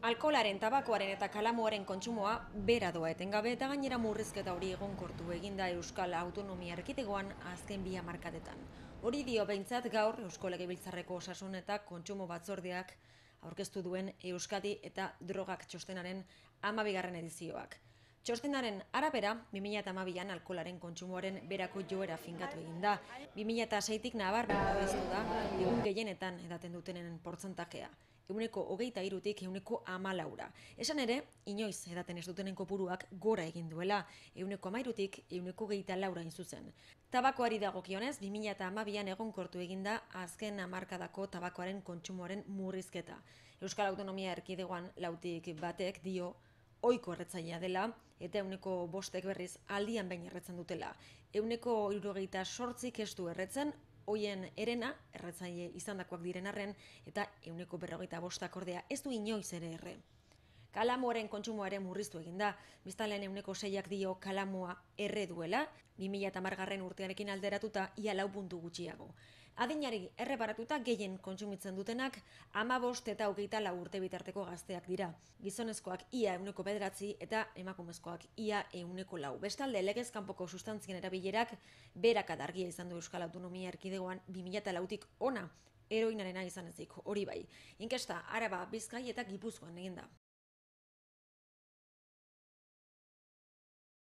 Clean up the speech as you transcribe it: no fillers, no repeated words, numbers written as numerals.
Alkoholaren, tabakoaren eta kalamuaren kontsumoa bera doa etengabe eta gainera murrizketa hori egonkortu eginda Euskal Autonomia Erkidegoan azken 2 hamarkadetan. Hori dio behintzat gaur Eusko Legebiltzarreko Osasun eta Kontsumo Batzordeak aurkeztu duen Euskadi eta Drogak txostenaren 12. edizioak. Txostenaren arabera, 2012an alkoholaren kontsumoaren berako joera finkatu eginda. 2006tik nabarmen babestu da egun gehienetan edaten dutenen portzentajea. 23tik 14%. Esan ere, inoiz edaten ez dutenen kopuruak gora egin duela, 13tik 24% hain zuzen. Tabakoari dagokionez, 2012an egonkortu eginda azken hamarkadako tabakoaren kontsumoaren murrizketa. Euskal Autonomia Erkidegoan 1/3 dio ohiko erretzailea dela eta 5%ek berriz aldian behin erretzen dutela. 78tik ez du erretzen, hoien herena erretzaile izandakoak diren arren eta 45% ordea ez du inoiz ere erre. Kalamuaren kontsumoa ere murriztu eginda, biztanleen 6ak dio kalamua erre duela, 2010 urtearekin alderatuta ia 4 puntu gutxiago. Adinari erreparatuta gehien kontsumitzen dutenak 15 eta 24 urte bitarteko gazteak dira. Gizonezkoak ia 9% eta emakumezkoak ia 4%. Bestalde, legez kanpoko sustantzien erabilerak beherakada argia izan du Euskal Autonomia Erkidegoan 2004tik hona, heroinarena izan ezik, hori bai. Inkesta Araba, Bizkai eta Gipuzkoan eginda.